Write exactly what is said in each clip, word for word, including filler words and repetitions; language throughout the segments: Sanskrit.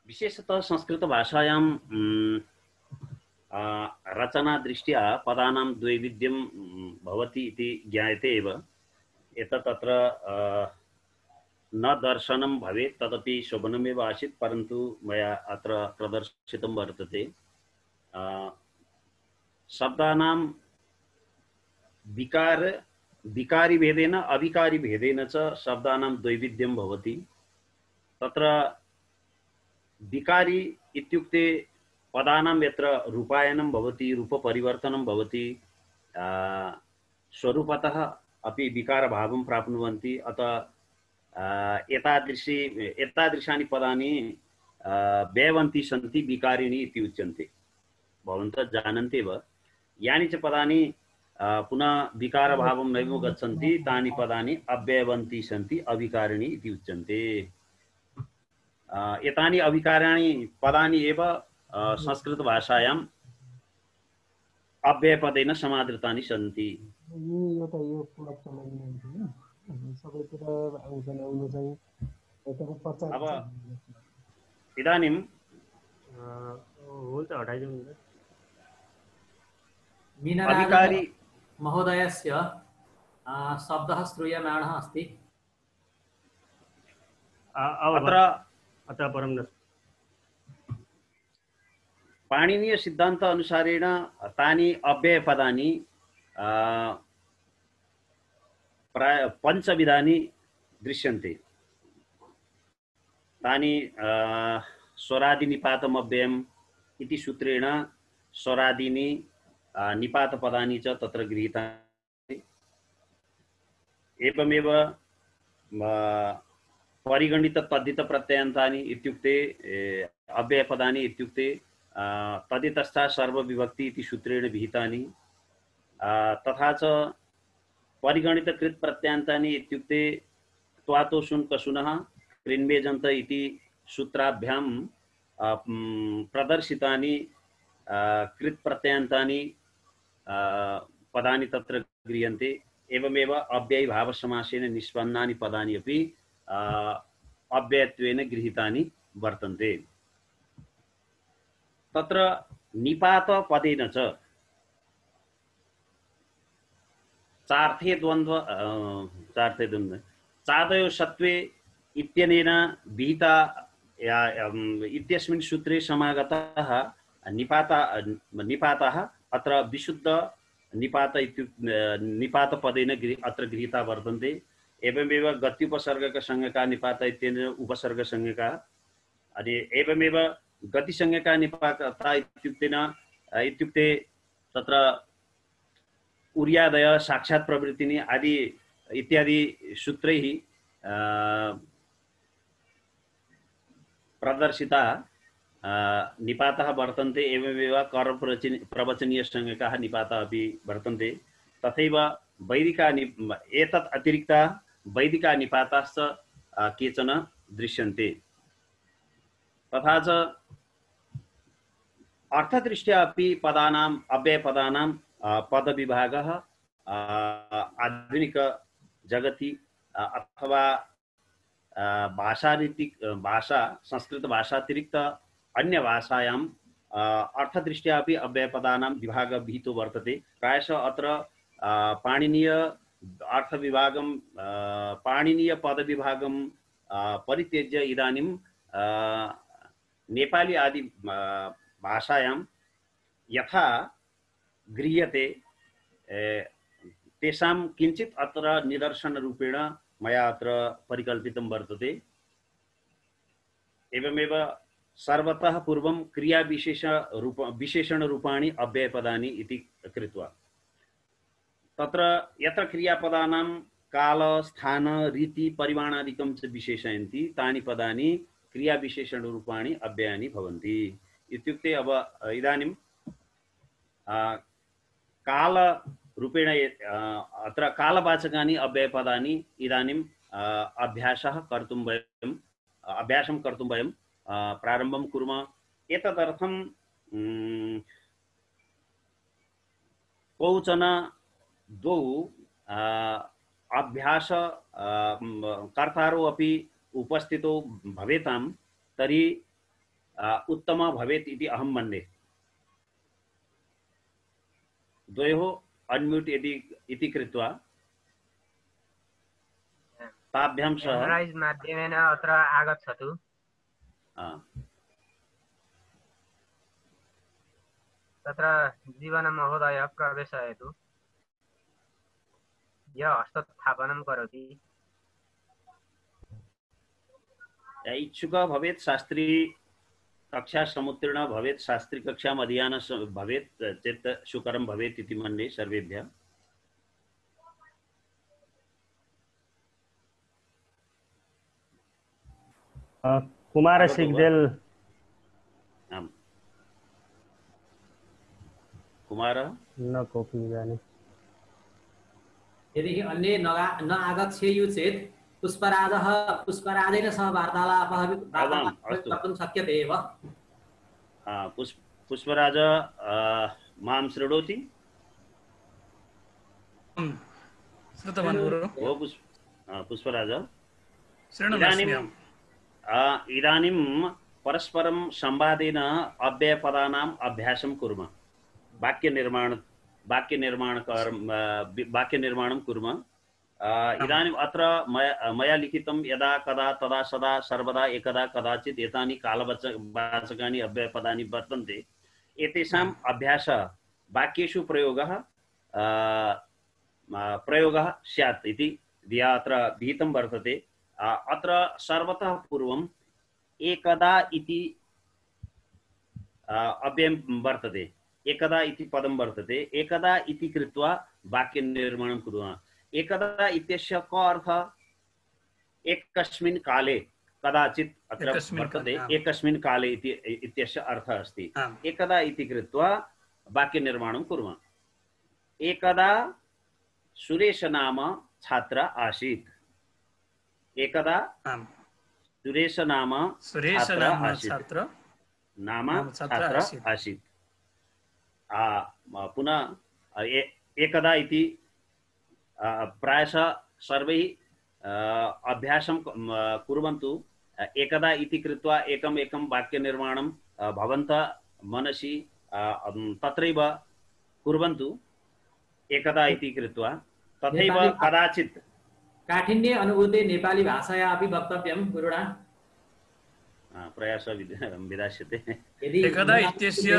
विशेषतः संस्कृतभाषायां रचनादृष्ट्या पदानां द्वैविध्यं भवति इति ज्ञायते एव। एतत् तत्र न दर्शनं भवेत् तदपि शोभनमेव आसीत्, परन्तु मया अत्र प्रदर्शितं वर्तते। शब्दानां विकार विकारिभेदेन अविकारिभेदेन च शब्दानां द्वैविध्यं भवति। तत्र विकारी इत्युक्ते पदानां यत्र रूपायनं भवति, रूपपरिवर्तनं भवति, स्वरूपतः अपि विकारभावं प्राप्नुवन्ति। अतः एतादृशी एतादृशानि पदानि व्यवन्ति सन्ति विकारिणि इति उच्यन्ते। भवन्तः जानन्ति एव, यानि च पदानि पुनः विकारभावं नैव गच्छन्ति तानि पदानि अव्यवन्ति सन्ति, अविकारिणि इति उच्यन्ते। एतानि अविकाराणि पदानि एव संस्कृतभाषायाम् अव्ययपदेन समादृतानि सन्ति। अब इदानीं मीनराज महोदयस्य शब्दः श्रूयमाणः अस्ति। अत्र अतः परं न पाणिनीय सिद्धान्त अनुसारेण तानि अव्ययपदानि प्राय पञ्चविधानि दृश्यन्ते। तानि स्वरादि निपातम् अव्ययम् इति सूत्रेण स्वरादीनि निपातपदानि च तत्र गृहीतानि। एवमेव परिगणित तद्धित प्रत्ययान्तानि इत्युक्ते अव्ययपदानि इत्युक्ते तदितस्था सर्वविभक्ति इति सूत्रेण विहितानि। तथा च परिगणित कृत प्रत्ययान्तानि इत्युक्ते त्वातो शुन् कसुनः कृन्वेजन्त इति सूत्राभ्यां प्रदर्शितानि कृत प्रत्ययान्तानि पदानि तत्र गृह्यन्ते। एवमेव अव्ययीभावसमासेन निष्पन्नानि पदानि अपि अव्ययत्वेन गृहीतानि वर्तन्ते। तत्र निपातपदेन च चार्थे द्वन्द्व चार्थे द्वन्द्व चादयो सत्वे इत्यनेन विहिता इत्यस्मिन् सूत्रे समागतः निपाता निपातः अत्र विशुद्ध निपात इत्युक्ते निपातपदेन अत्र गृहीता वर्तन्ते। एवमेव गत्युपसर्गकसंज्ञका निपात इत्यनेन उपसर्गसंज्ञका। अनि एवमेव गतिसंज्ञका निपाता इत्युक्तेन इत्युक्ते तत्र उर्यादय साक्षात् प्रवृत्तिनि आदि इत्यादि सूत्रैः प्रदर्शिता निपातः वर्तन्ते। एवमेव कर्मप्रवचन प्रवचनीय संज्ञकाः निपाताः अपि वर्तन्ते। तथैव वैदिका नि एतत् अतिरिक्ता वैदिका निपाताश्च केचन दृश्यन्ते। तथा च अर्थदृष्ट्या अपि पदानाम् अव्ययपदानां पदविभागः आधुनिक जगति अथवा भाषारीति भाषा संस्कृत भाषातिरिक्त अन्य भाषायां अर्थदृष्ट्या अपि अव्ययपदानां विभागः विहितो वर्तते। प्रायशः अत्र पाणिनीय अर्थविभागं पाणिनीय पदविभागं परित्यज्य इदानीं नेपाली आदि भाषायां यथा गृह्यते तेषां किञ्चित् अत्र निदर्शनरूपेण मया अत्र परिकल्पितं वर्तते। एवमेव सर्वतः पूर्वं क्रियाविशेष रूप विशेषणरूपाणि अव्ययपदानि इति कृत्वा तत्र यत्र क्रियापदानां काल स्थान रीति परिमाणादिकं च विशेषयन्ति तानि पदानि क्रियाविशेषणरूपाणि अव्ययानि भवन्ति। इत्युक्ते अब इदानीं कालरूपेण अत्र कालवाचकानि अव्ययपदानि इदानीं अभ्यासः कर्तुं वयम् अभ्यासं कर्तुं वयं प्रारम्भं कुर्मः। एतदर्थं कौचन द्वौ अभ्यास कर्तारौ अपि उपस्थितौ भवेतां। तर्हि उत्तम भवेत् इति अहं मन्ये। द्वयोः अन्म्यूट् यदि इति कृत्वा ताभ्यां सह मेमोराइज माध्यमेन अत्र आगच्छतु। तत्र जीवनमहोदय प्रवेशयतु। यः हस्तस्थापनं करोति इच्छुक भवेत्, शास्त्री कक्षा समुत्तीर्ण भवेत्, शास्त्री कक्षाम् अध्ययन भवेत् चेत् सुकरं भवेत् इति मन्ये सर्वेभ्यः। कुमार सिग्देल। आम् कुमार न कोऽपि इदानीं। यदि अन्ये न आगच्छेयुः चेत् पुष्पराजः पुष्पराजेन सह वार्तालापः कर्तुं शक्यते एव। पुष्पराज मां शृणोति? श्रुतवान् गुरु। ओ पुष्पराज, इदानीं इदानीं परस्परं संवादेन अव्ययपदानाम् अभ्यासं कुर्मः। वाक्यनिर्माण वाक्यनिर्माण वाक्यनिर्माणं कुर्मः। इदानीम् अत्र मया लिखितं यदा कदा तदा सदा सर्वदा एकदा कदाचित् एतानि कालवाचकानि अव्ययपदानि वर्तन्ते। एतेषाम् अभ्यासः वाक्येषु प्रयोगः प्रयोगः स्यात् इति धिया अत्र विहितं वर्तते। अत्र सर्वतः पूर्वम् एकदा इति अव्ययं वर्तते, एकदा इति पदं वर्तते। एकदा इति कृत्वा वाक्यनिर्माणं कुर्मः। एकदा इत्यस्य क अर्थः? एकस्मिन् काले, कदाचित् अत्र वर्तते एकस्मिन् काले इति इत्यस्य अर्थः अस्ति। एकदा इति कृत्वा वाक्यनिर्माणं कुर्मः। एकदा सुरेश नाम छात्र आसीत्। एकदा सुरेश नाम छात्र नाम छात्र आसीत्। पुनः एकदा इति प्रायशः सर्वैः अभ्यासं कुर्वन्तु। एकदा इति कृत्वा एकम् एकं वाक्यनिर्माणं भवन्तः मनसि तत्रैव कुर्वन्तु। एकदा इति कृत्वा तथैव कदाचित् काठिन्ये अनुभूते नेपाली भाषाया अपि वक्तव्यं गुरुणा। प्रयासः विधास्यते। एकदा इत्यस्य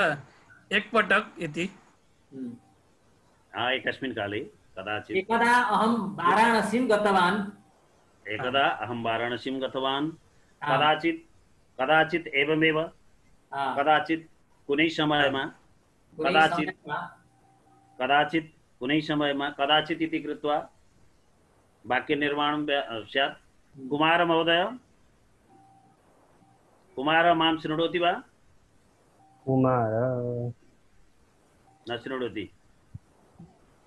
एकपटक इति एकस्मिन् काले कदाचित्। एकदा अहं वाराणसीं गतवान्। एकदा अहं वाराणसीं गतवान्। कदाचित् कदाचित् एवमेव। कदाचित् कुनै समयमा। कदाचित् कदाचित् कुनै समयमा। कदाचित् इति कृत्वा वाक्यनिर्माणं स्यात्। कुमार महोदय, कुमार मां शृणोति वा? कुमार न शृणोति।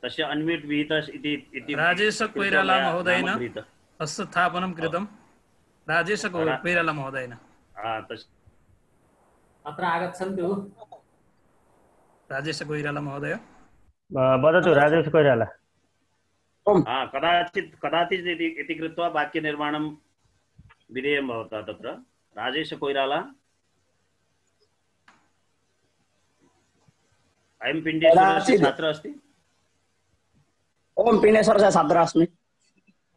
तस्य अन्म्यूट् विहितः इति राजेश कोइराला महोदयेन हस्तस्थापनं कृतं। राजेश कोइराला महोदयेन अत्र आगच्छन्तु। राजेश कोइराला महोदय वदतु। राजेश कोइराला। कदाचित् कदाचित् इति कृत्वा वाक्यनिर्माणं विधेयं भवतः तत्र। राजेश कोइराला। अयं पिण्डेश्वरस्य छात्रः अस्ति? ओम पिण्डेश्वरस्य छात्रः अस्मि।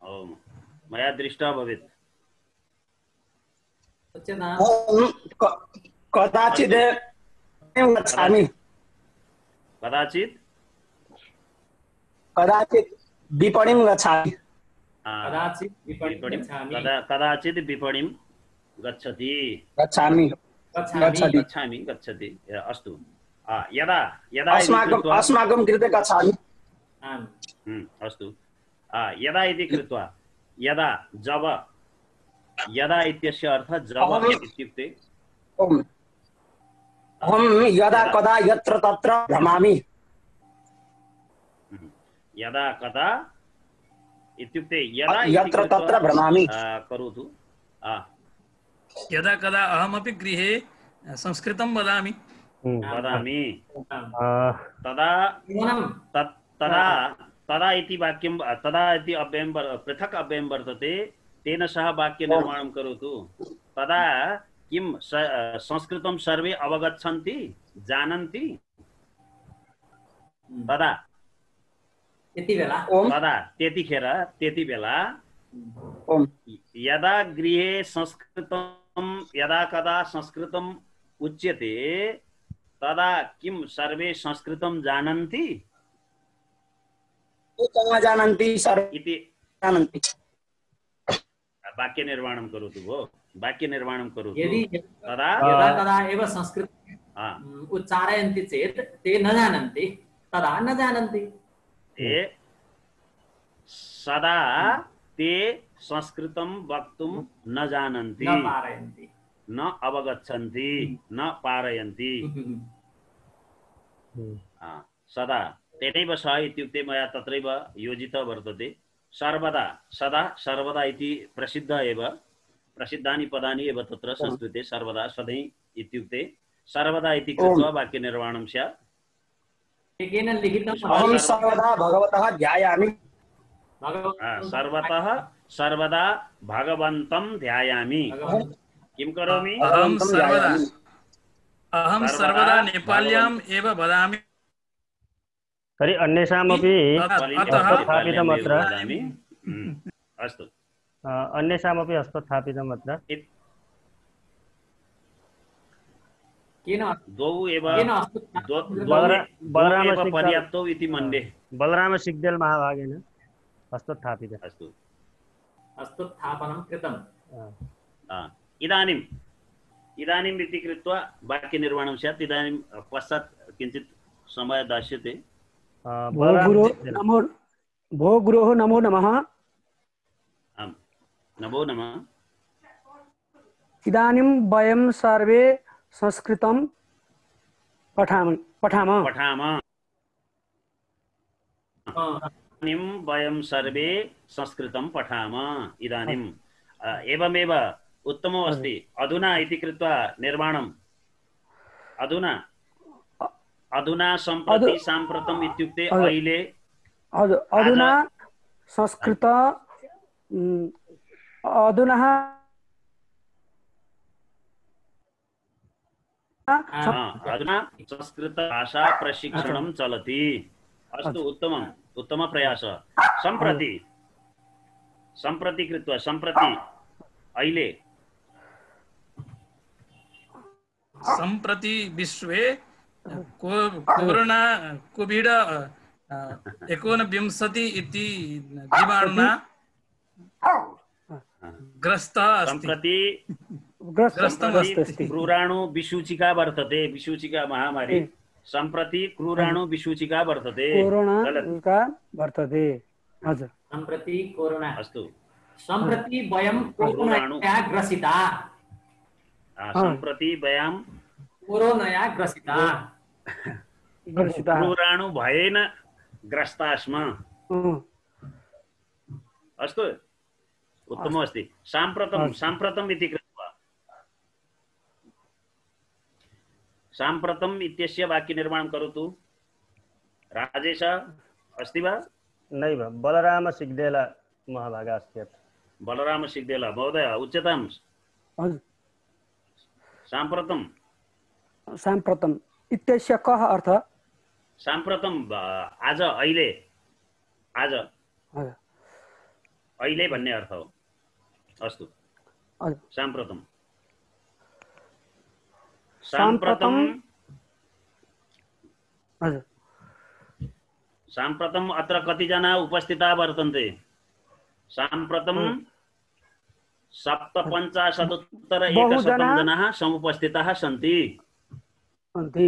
ओम, मया दृष्टः भवेत्। कदाचित् गच्छामि। कदाचित् कदाचित् विपणिं गच्छामि। कदाचित् विपणिं गच्छामि। कदाचित् विपणिं गच्छति। गच्छामि गच्छामि गच्छति। अस्तु। यदा यदा अस्माकं अस्माकं कृते गच्छामि। अस्तु। यदा इति कृत्वा यदा जब यदा इत्यस्य अर्थः जब इत्युक्ते अहं यदा कदा यत्र तत्र भ्रमामि। यदा कदा इत्युक्ते यदा यत्र तत्र भ्रमामि करोतु। यदा कदा अहमपि गृहे संस्कृतं वदामि वदामि तदा तदा तदा इति वाक्यं तदा इति अव्ययं पृथक् अव्ययं वर्तते। तेन सह वाक्यनिर्माणं करोतु। तदा किं संस्कृतं सर्वे अवगच्छन्ति जानन्ति तदा त्यति बेला ओम तदा त्यतिखेर त्यति बेला ओम यदा गृहे संस्कृतं यदा कदा संस्कृतम् उच्यते तदा किं सर्वे संस्कृतं जानन्ति कहाँ जानन्ति सर्वे इति जानन्ति वाक्य निर्माणं करोतु भो वाक्य निर्माणं करोतु यदि तदा यदा कदा एव संस्कृत हा, उच्चारयन्ति चेत् ते न जानन्ति तदा न जानन्ति ते सदा ते संस्कृतं वक्तुं न जानन्ति न पारयन्ति न अवगच्छन्ति न पारयन्ति हा, सदा तेनैव सह इत्युक्ते मया तत्रैव योजितः वर्तते सर्वदा सदा सर्वदा इति प्रसिद्ध एव प्रसिद्धानि पदानि एव तत्र संस्कृते सर्वदा सधैँ इत्युक्ते सर्वदा इति कृत्वा वाक्यनिर्माणं स्यात् एकेन लिखितम् अहं सर्वदा भगवतः ध्यायामि हा, सर्वतः सर्वदा भगवन्तं ध्यायामि किं करोमि अहं सर्वदा अहं सर्वदा सर्वदा नेपाल्याम् एव वदामि तर्हि अन्येषामपि अतः हस्तस्थापितम् अत्र वदामि हम्म, अस्तु अ, अन्येषामपि हस्तस्थापितम् अत्र इत- केन द्वौ एव केन हस्त द्वौ द्वौ बलरा- द्वौ बलराम एव सिक्का- पर्याप्तौ इति मन्ये बलराम सिग्देल् महाभागेन हस्तस्थापित अस्तु हस्तस्थापनं कृतम् हा, इदानीम् इदानीम् इति कृत्वा वाक्यनिर्माणं स्यात् इदानीं पश्चात् किञ्चित् समयः दास्यते अ, भो बलराम गुरो सिग्देल्। नमो भो गुरोः नमो नमः। आम् नमो नमः इदानीं वयं सर्वे संस्कृतं पठामः पठामः पठामः इदानीं वयं सर्वे संस्कृतं पठामः इदानीम् अ, एवमेव उत्तमम् अस्ति अधुना इति कृत्वा निर्माणम् अधुना अधुना सम्प्रति अधु- साम्प्रतम् इत्युक्ते अधु- अहिले अधु- अधुना संस्कृत उम्, अधुना हा, अधुना संस्कृतभाषा प्रशिक्षणं चलति अस्तु उत्तमम् उत्तमप्रयासः सम्प्रति सम्प्रति कृत्वा सम्प्रति अहिले सम्प्रति विश्वे को- कोरोना कोविड एकोनविंशति इति जीवाणुना ग्रस्तः अस्ति सम्प्रति ग्रस्त ग्रस्तम् ग्रस्त अस्ति। अस्ति। क्रूराणु विसूचिका वर्तते विसूचिका महामारी सम्प्रति क्रूराणु विसूचिका वर्तते कोरोना चलति। का वर्तते हजुर सम्प्रति कोरोना अस्तु सम्प्रति वयं कोरोनया ग्रसिता आ, सम्प्रति वयं कोरोनया ग्रसिता ग्रसितः क्रूराणु भयेन ग्रस्ता स्म अँ, अस्तु उत्तममस्ति साम्प्रतं साम्प्रतम् इति कृत्वा साम्प्रतम् इत्यस्य वाक्यनिर्माणं करोतु राजेश अस्ति वा नैव बलराम सिग्देल महाभागः अस्ति अत्र बलराम सिग्देल महोदय उच्यतां हजुर साम्प्रतं साम्प्रतम् इत्यस्य कः अर्थः साम्प्रतं अ, आज अहिले आज हजुर अहिले भन्ने अर्थ हो अस्तु हजुर साम्प्रतं साम्प्रतं साम्प्रतं हजुर साम्प्रतम् अत्र कतिजना उपस्थिताः वर्तन्ते साम्प्रतं सप्तपञ्चाशदुत्तर एकशतं जनाः समुपस्थिताः सन्ति सन्ति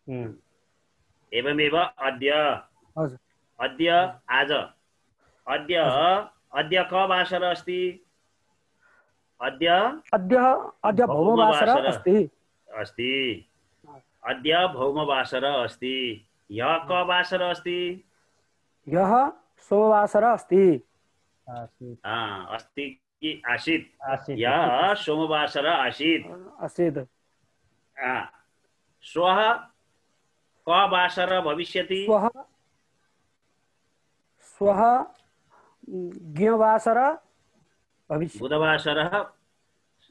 हम्म। एवमेव अद्य हजुर अद्य आज अद्य अद्य क वासर अस्ति अद्य अद्य अद्य भौमवासर भौमवासर। अस्ति अस्ति अद्य भौमवासर अस्ति ह्यः क वासर अस्ति ह्यः सोमवासर अस्ति आसीत् आ, अस्ति कि आसीत् आसीत् ह्यः सोमवासर आसीत् आसीत् आ, श्वः क वासर भविष्यति श्वः श्वः ज्ञवासर भविष्यति बुधवासरः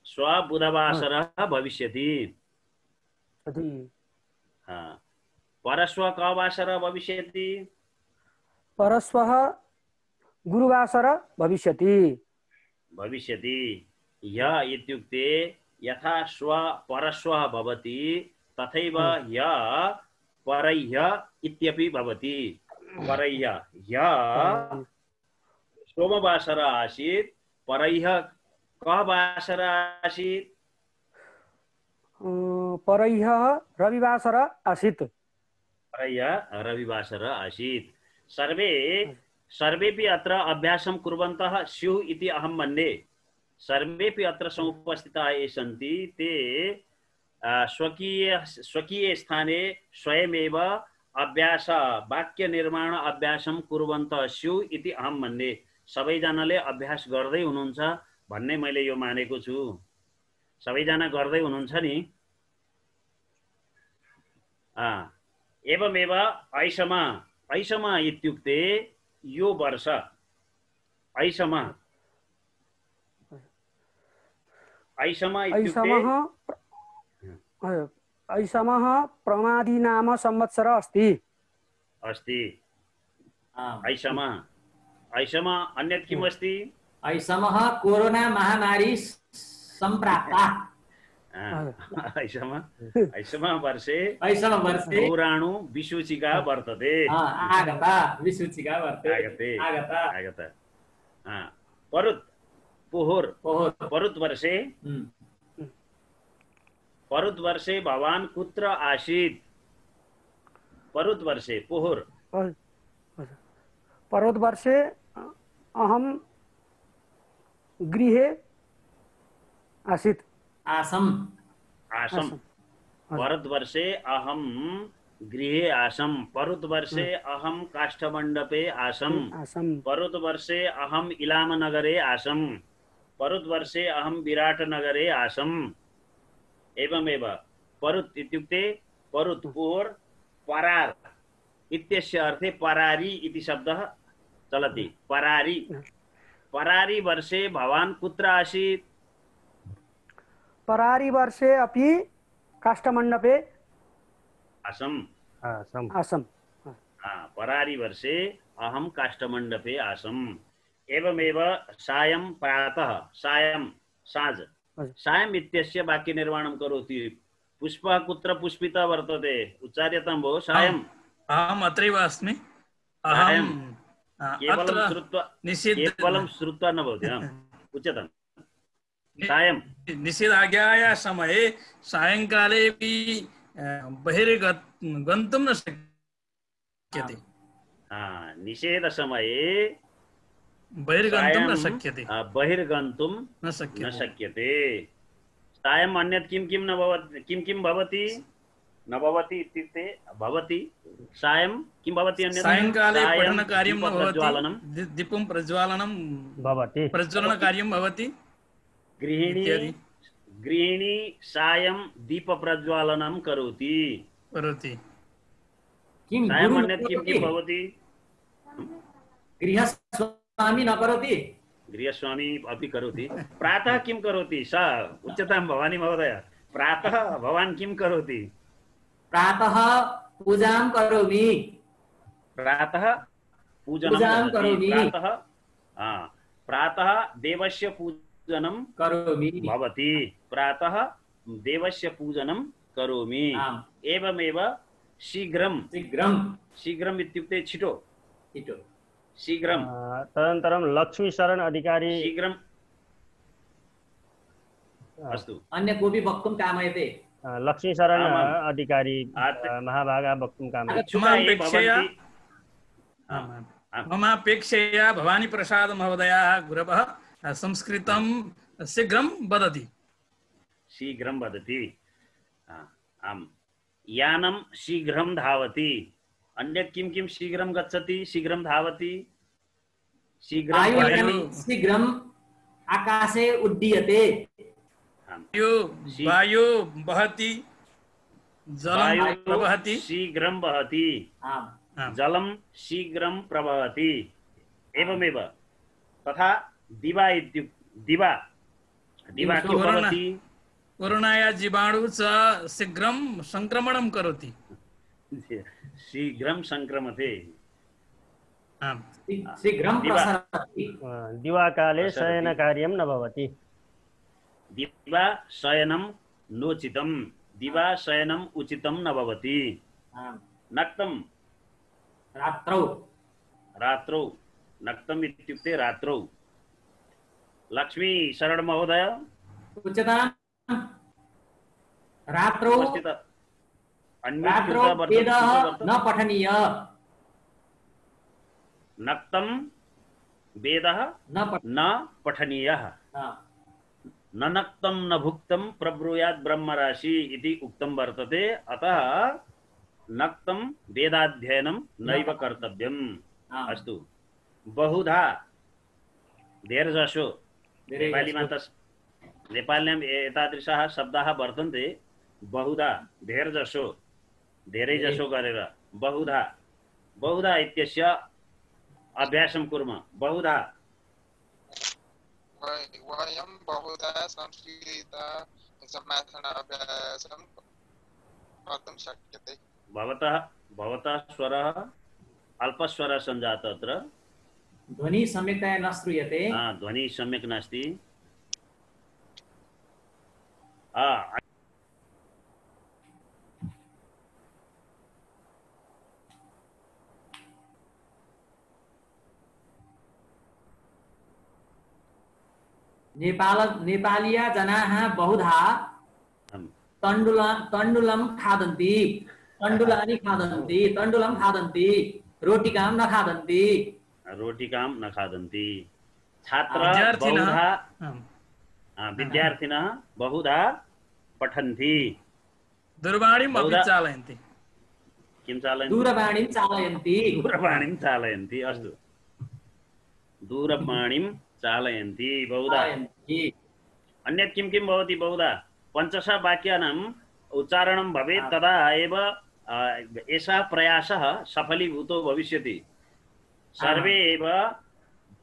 श्व बुधवासरः भविष्यति। तर्हि हा। परश्व कः वासरः भविष्यति? परश्वः गुरुवासरः भविष्यति। भविष्यति। ह्यः इत्युक्ते यथा श्व परश्वः भवति तथैव ह्यः परह्यः इत्यपि भवति। परह्यः ह्यः सोमवासरः आसीत्, परह्यः कः वासरः आसीत्? परह्यः रविवासरः आसीत्। परह्यः रविवासरः आसीत्। सर्वे सर्वेपि अत्र अभ्यासं कुर्वन्तः स्युः इति अहं मन्ये। सर्वेपि अत्र समुपस्थिताः ये सन्ति ते स्वकीय स्वकीय स्थाने स्वयमेव अभ्यास वाक्य निर्माण अभ्यासं कुर्वन्तः स्युः इति अहं मन्ये। सबैजनाले अभ्यास गर्दै हुनुहुन्छ भन्ने मैले यो मानेको छु। सबैजना गर्दै हुनुहुन्छ नि? एवमेव ऐषम ऐषम इत्युक्ते यो वर्ष ऐषम ऐषम इत्युक्ते ऐषमः प्रमादी नाम संवत्सरः अस्ति। अस्ति ऐषम ऐषम अन्यत् किम् अस्ति? ऐषमः कोरोना महामारी सम्प्राप्ता। ऐषम ऐषम वर्षे ऐषम वर्षे पौराणु विसूचिका वर्तते। आगता विसूचिका वर्तते। आगते आगता आगता। परुत् पुहुर् परुत् वर्षे परुत् वर्षे भवान् कुत्र आसीत्? परुत् वर्षे पुहुर् परुत् वर्षे अहं गृहे आसीत्। आसम् आसम्। परुत् वर्षे अहं गृहे आसम्। परुत् वर्षे अहं काष्ठमण्डपे आसम्। परुत् वर्षे अहम् इलामनगरे आसम्। परुत् वर्षे अहं विराटनगरे आसम्। एवमेव परुत् इत्युक्ते परुत् पुहुर् परार् इत्यस्य अर्थे परारी इति शब्दः चलति। परारी परारी वर्षे भवान् कुत्र आसीत्? परारी वर्षे अपि काष्ठमण्डपे आसम्। आसम् आसम्। परारी वर्षे अहं काष्ठमण्डपे आसम्। एवमेव सायं प्रातः सायं साँझ सायम् इत्यस्य वाक्यनिर्माणं करोति। पुष्पः कुत्र पुष्पितः वर्तते? उच्चार्यतां भो। सायम्। अहम् अत्रैव अस्मि। सायं अहं केवलं अत्र श्रुत्वा निषिद्ध केवलं श्रुत्वा न भवति। उच्यतां सायं निषेधाज्ञायाः समये सायङ्कालेपि बहिर्गन्तुं न शक्यते। निषेधसमये बहिर्गन्तुं न शक्यते। बहिर्गन्तुं न न शक्यते। शक्यते। सायम् अन्यत् किं किं न भवति? किं किं भवति? न भवति इत्युक्ते भवति। सायं किं भवति? अन्यत् सायङ्काले पठनकार्यं न दीपप्रज्वालनं भवति। दीपं प्रज्वालनं भवति। प्रज्वलनकार्यं भवति। गृहिणी गृहिणी सायं दीपप्रज्वालनं करोति। करोति। किं सायम् अन्यत् किं किं भवति? गृहस्वामी न करोति? गृहस्वामी अपि करोति। प्रातः किं करोति? सा उच्यतां भवानी महोदय। प्रातः भवान् किं करोति? प्रातः पूजां करोमि। प्रातः पूजनं पूजां भवति। करोमि। प्रातः प्रातः देवस्य पूजनं करोमि भवति। प्रातः देवस्य पूजनं करोमि। आम्। एवमेव शीघ्रं शीघ्रं शीघ्रम् इत्युक्ते छिटो इटो शीघ्रं। तदनन्तरं लक्ष्मीशरण अधिकारी। शीघ्रं अस्तु। अन्य कोऽपि वक्तुं कामयते? लक्ष्मीशरण आमाम्। अधिकारी आत्- महाभागाः वक्तुं कामयति। इच्छुकाः ये ममापेक्षया भवन्ति- ममापेक्षया भवानी प्रसाद महोदयाः गुरवः संस्कृतं शीघ्रं वदति। शीघ्रं वदति। आम्। यानं शीघ्रं धावति। अन्यत् किं किं शीघ्रं गच्छति? शीघ्रं धावति। शीघ्रं वायुयाने पठति। शीघ्रम् आकाशे उड्डीयते। वायु वायु वहति, जलं वायुः प्रवहति। शीघ्रं वहति। आम् आम्। जलं शीघ्रं प्रवहति। एवमेव तथा दिवा इत्युक्ते दिवा दिवा किं भवति कोरोनाया जीवाणु च शीघ्रं संक्रमणं करोति शीघ्रं संक्रमते आम् शीघ्रं दिवा प्रसरति दिवाकाले प्रसरति। शयनकार्यं न भवति दिवा शयनं नोचितं दिवा शयनम् उचितं न भवति आम्। नक्तं रात्रौ रात्रौ नक्तम् इत्युक्ते रात्रौ लक्ष्मी शरण महोदय उच्यतां रात्रौ उपस्थित अन्मित रात्रौ कृता वर्तते, वेदः कृता वर्तते। न पठनीय नक्तं वेदः न पठ न पठनीयः हा। न नक्तं न भुक्तं प्रब्रूयात् ब्रह्मराशि इति उक्तं वर्तते अतः नक्तं वेदाध्ययनं नैव कर्तव्यम् आम्। अस्तु बहुधा धेरजसो धेरै नेपालीमा त नेपाल्याम् एतादृशाः शब्दाः वर्तन्ते बहुधा धेरजसो धेरै जसो गरेर बहुधा बहुधा इत्यस्य अभ्यासं कुर्मः बहुधा वयं बहुधा संस्कृत समाधानाभ्यासं कर्तुं शक्यते भवतः भवतः स्वरः अल्पस्वरः सञ्जातः अत्र ध्वनिः सम्यक्तया न श्रूयते हा, ध्वनिः सम्यक् नास्ति हा, नेपाल नेपालीया जनाः बहुधा आम्। तण्डुल तण्डुलं खादन्ति तण्डुलानि खादन्ति तण्डुलं खादन्ति रोटिकां न खादन्ति रोटिकां न खादन्ति छात्राः विद्यार्थिनः बहुधा आम्। हा, विद्यार्थिनः बहुधा पठन्ति दूरवाणीम् अपि बहुधा- चालयन्ति किं चालयन्ति दूरवाणीं चालयन्ति दूरवाणीं चालयन्ति अस्तु दूरवाणीं चालयन्ति बहुधा चालयन्ति अन्यत् किं किं भवति बहुधा पञ्चश वाक्यानाम् उच्चारणं भवेत् तदा एव अ, एषः प्रयासः सफलीभूतो भविष्यति सर्वे एव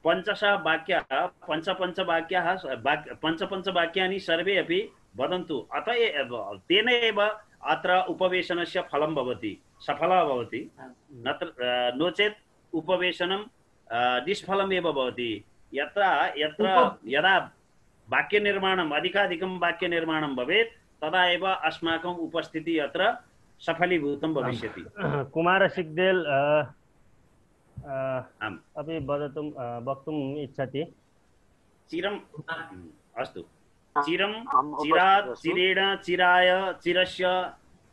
पञ्चश वाक्याः पञ्च पञ्च वाक्याः वाक् पञ्च पञ्च वाक्यानि सर्वे अपि वदन्तु अत एव तेन एव अत्र उपवेशनस्य फलं भवति सफलः भवति नत्र अ, नो चेत् उपवेशनं अ, निष्फलम् एव भवति यत्र यत्र यदा वाक्यनिर्माणम् अधिकाधिकं वाक्यनिर्माणं भवेत् तदा एव अस्माकम् उपस्थितिः अत्र सफलीभूतं भविष्यति कुमार सिग्देल अ, अ, आम् अपि वदतुं अ, वक्तुम् इच्छति चिरम् अस्तु चिरं चिरात् चिरेण चिराय चिरस्य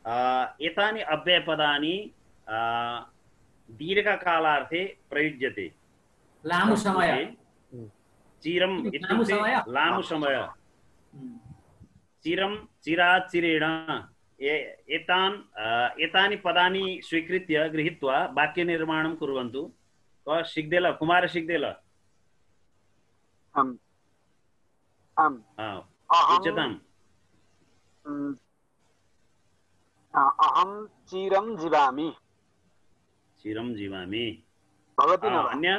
अ, एतानि अव्ययपदानि अ, दीर्घकालार्थे प्रयुज्यते लामो समय चिरम् लामो इत्युक्ते समय लामो समय चिरं चिरात् चिरेण ए- एतान् अ, एतानि पदानि स्वीकृत्य गृहीत्वा वाक्यनिर्माणं कुर्वन्तु क सिग्देल कुमार सिग्देल आम् आम् हा, अहं उच्यताम् म्, अ- अहं चिरं जीवामि चिरं जीवामि भवति न आ, वा? अन्य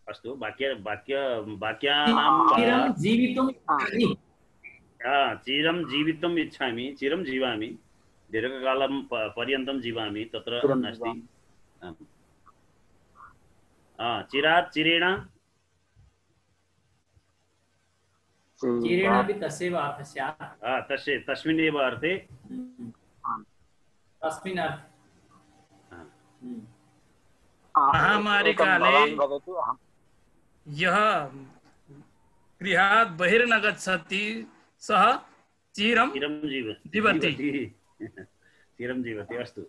अस्तु वाक्य वाक्य वाक्यानां चिरं जीवितुम् इच्छामि आ, चिरं जीवितुम् इच्छामि चिरं जीवामि दीर्घकालं प- पर्यन्तं जीवामि तत्र चिरं नास्ति आम्। आ, चिरात् चिरेण चिरेणापि तस्यैव अर्थः स्यात् आ, तस्य तस्मिन्नेव अर्थे तस्मिन् अर्थे आ, हम्म। महामारीकाले भवान् वदतु अहं यः गृहात् बहिर्न गच्छति सः चिरं चिरं जीव जीवति। जीवति चिरं जीवति अस्तु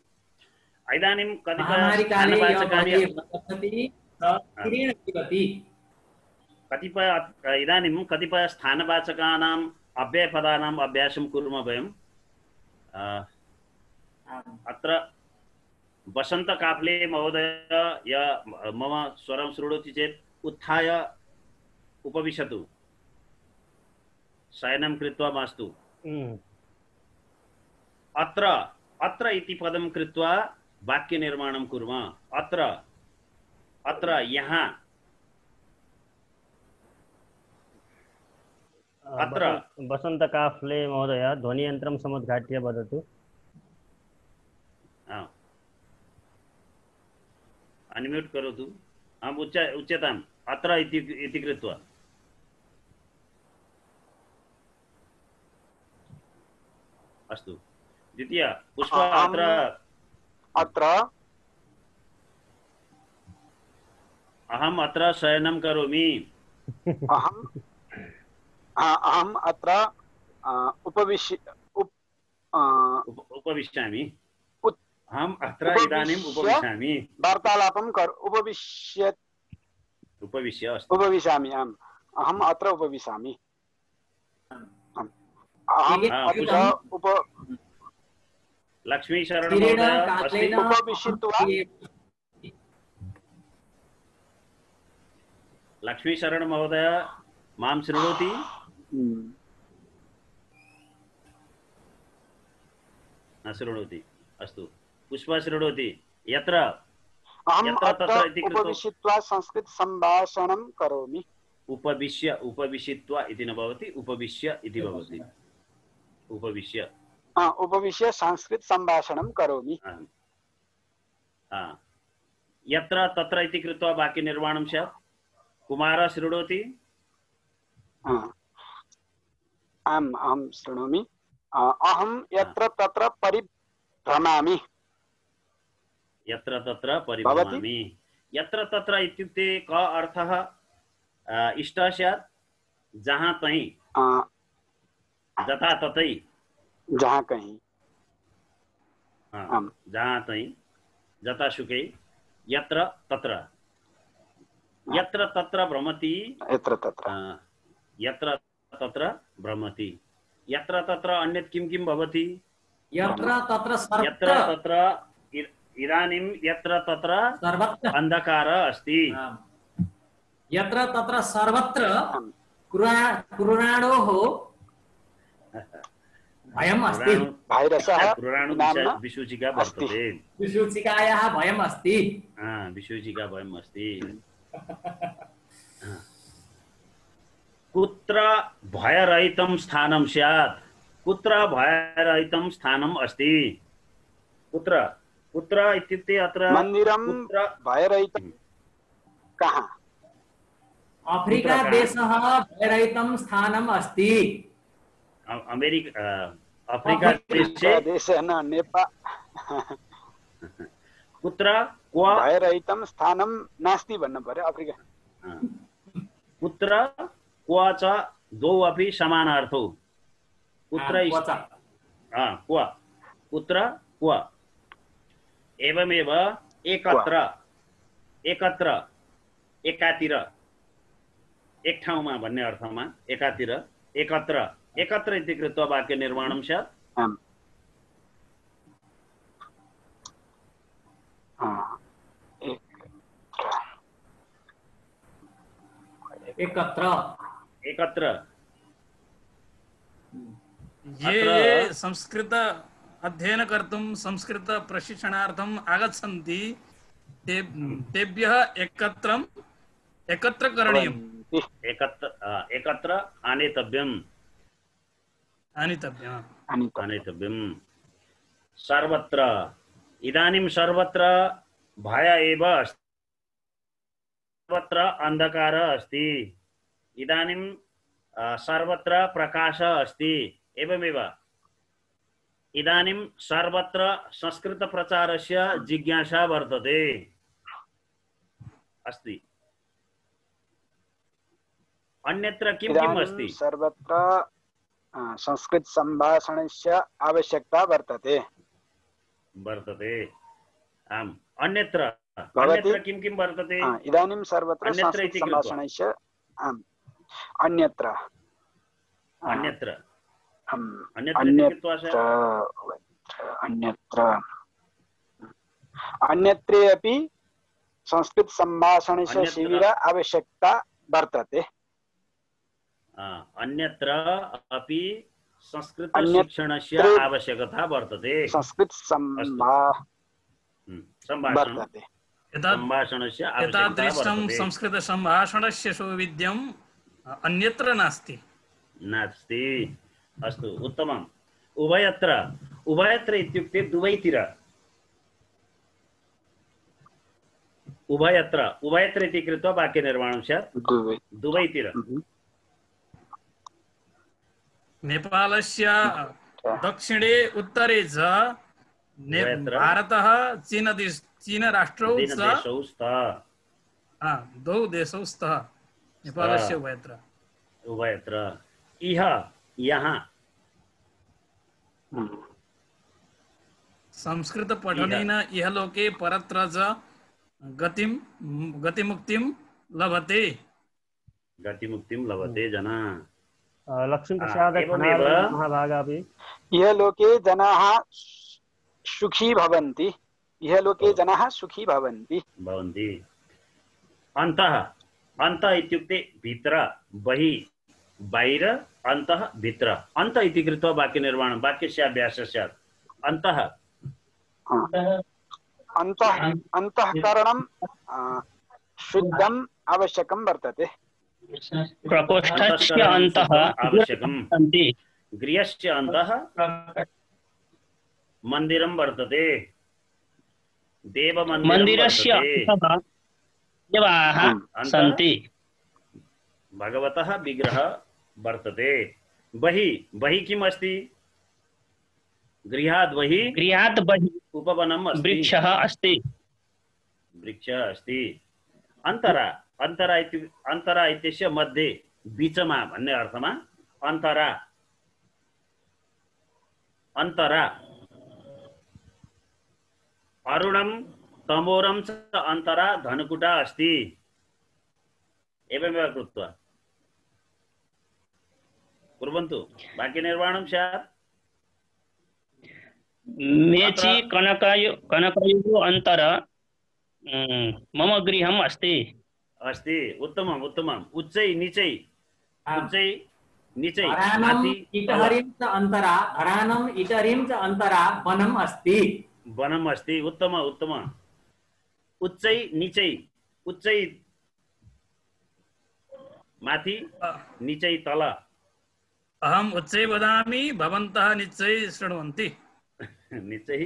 इदानीं कतिपय महामारीकाले यः स्थानवाचकानि बहिः न गच्छति सः चिरेण जीवति कतिपय इदानीं कतिपय स्थानवाचकानाम् अव्ययपदानाम् अभ्यासं कुर्मः वयं आ, आम्। अत्र वसंत काफले महोदय य मम स्वरं शृणोति चेत् उत्थाय उपविशतु शयनं कृत्वा मास्तु हम्म। अत्र अत्र इति पदं कृत्वा वाक्यनिर्माणं कुर्मः अत्र अत्र यहाँ अत्र वसन्तकाफ्ले महोदय ध्वनियन्त्रं समुद्घाट्य वदतु। अनम्यूट् करोतु। आम् उच्च उच्यताम् अत्र इति इति कृत्वा अस्तु। द्वितीय पुष्प अत्र अत्र अहम् अत्र शयनं करोमि। अहम् अहम् अत्र उपविश्य उपविशामि। उत् अहम् अत्र इदानीम् उपविशामि। वार्तालापं कर उपविश्य उपविश्य उपविशामि। आम् अहम् अत्र उपविशामि। अहम् अत्र उप लक्ष्मी शरण महोदय अस्ति। उपविशित्वा लक्ष्मी शरण महोदय मां शृणोति? न शृणोति। अस्तु पुष्पा शृणोति। यत्र यत्र तत्र इति कृत्वा उपविशित्वा संस्कृत सम्भाषणं करोमि। उपविश्य उपविशित्वा इति न भवति, उपविश्य इति भवति। उपविश्य उपविश्य संस्कृत सम्भाषणं करोमि। यत्र तत्र इति कृत्वा वाक्यनिर्माणं स्यात्। कुमारः शृणोति? आम् अहं शृणोमि। अहं यत्र तत्र परिभ्रमामि। यत्र तत्र परिभ्रमामि। यत्र तत्र इत्युक्ते क अर्थः इष्ट स्यात्? जहाँ तहीं, जथा तथै, जहाँ कहीं, जहाँ तहीं, जथा सुकै, यत्र तत्र। यत्र तत्र भ्रमति, यत्र तत्र यत्र तत्र भ्रमति। यत्र तत्र अन्यत् किं किं भवति? यत्र तत्र यत्र तत्र इदानीं यत्र तत्र अन्धकारः अस्ति। यत्र तत्र सर्वत्र कुराणोः भयम् अस्ति। विसूचिका वर्तते। विसूचिकायाः भयम् अस्ति। विसूचिका भयम् अस्ति। कुत्र भयरहितं स्थानं स्यात्? कुत्र भयरहितं स्थानम् अस्ति? कुत्र कुत्र इत्युक्ते अत्र मन्दिरं भयरहितं कहाँ? अफ्रीका देशः भयरहितं स्थानम् अस्ति। अमेरिका अफ्रीका देशे देशे न नेपाल कुत्र क्व भयरहितं स्थानं नास्ति भन्नु पर्यो। अफ्रिका कुत्र क्व च द्वौ अपि समानार्थौ। कुत्र क्व कुत्र क्व एवमेव एकत्र एकत्र एकातिर एक ठाउँमा भन्ने अर्थमा एकातिर एकत्र एकत्र इति कृत्वा वाक्य निर्माणं स्यात्। एकत्र एकत्र ये ये संस्कृत अध्ययन कर्तुं संस्कृत प्रशिक्षणार्थम् आगच्छन्ति ते तेभ्यः एकत्रम् एकत्र करणीयम्। एकत्र एकत्र आनेतव्यम् आनेतव्यम् आनेतव्यम्। सर्वत्र इदानीं सर्वत्र भय एव अस्ति। सर्वत्र अंधकारः अस्ति। इदानीं सर्वत्र प्रकाशः अस्ति। एवमेव इदानीं सर्वत्र संस्कृत प्रचारस्य जिज्ञासा वर्तते अस्ति। अन्यत्र किं किम् अस्ति? सर्वत्र संस्कृत सम्भाषणस्य आवश्यकता वर्तते वर्तते। आम् अन्यत्र अन्यत्र किं किं वर्तते? इदानीं सर्वत्र संस्कृत सम्भाषणस्य आम् अन्यत्र अन्यत्र अन्यत्र अन्यत्र अन्यत्रे अपि संस्कृत सम्भाषणस्य शिबिर आवश्यकता वर्तते। अन्यत्र अपि संस्कृत शिक्षणस्य आवश्यकता वर्तते। संस्कृत सम्भाषणस्य सम्भाषणस्य एतादृशं संस्कृत सम्भाषणस्य सौविध्यम् अन्यत्र नास्ति नास्ति। अस्तु उत्तमम्। उभयत्र उभयत्र इत्युक्ते दुवैतिर उभयत्र उभयत्र इति कृत्वा वाक्यनिर्माणं स्यात् दुवैतिर। नेपालस्य दक्षिणे उत्तरे च भारतः चीन चीन राष्ट्रौ च द्वौ देशौ स्तः नेपालस्य उभयत्र उभयत्र इह यहाँ संस्कृत पठनेन इह लोके परत्र च गतिं गतिमुक्तिं लभते गतिमुक्तिं लभते जना। लक्ष्मी प्रसाद महाभागापि इह लोके जनाः सुखी भवन्ति इह लोके जनाः सुखी भवन्ति भवन्ति। अन्तः अन्तः इत्युक्ते भित्र बहिः बाहिर अन्तः भित्र अन्त इति कृत्वा वाक्यनिर्माणं वाक्यस्य अभ्यासः स्यात्। अन्तः अन्तः अन्तःकरणं शुद्धम् आवश्यकं वर्तते। प्रकोष्ठस्य अन्तः आवश्यकं गृहस्य अन्तः मन्दिरं वर्तते देवमन्दिरस्य अन्तः देवाः सन्ति भगवतः विग्रहः वर्तते। बहिः बहिः किम् अस्ति? गृहात् बहिः गृहात् बहिः उपवनम् अस्ति वृक्षः अस्ति वृक्षः अस्ति। अन्तरा अन्तरा इति अन्तरा इत्यस्य मध्ये बीचमा भन्ने अर्थमा अन्तरा अन्तरा अरुणं तमोरं च अन्तरा धनुकुटा अस्ति। एवमेव कृत्वा कुर्वन्तु वाक्यनिर्माणं स्यात्। मेची कनकयो कनकयोः अन्तर मम गृहम् अस्ति अस्ति। उत्तमम् उत्तमम्। उच्चै नीचै उच्चै नीचै इटहरिं च अन्तरा धरानम् इटहरिं च अन्तरा वनम् अस्ति वनम् अस्ति। उत्तम उत्तम। उच्चै नीचै उच्चै माथि नीचै तल। अहम् उच्चै वदामि भवन्तः नीचै शृण्वन्ति। नीचै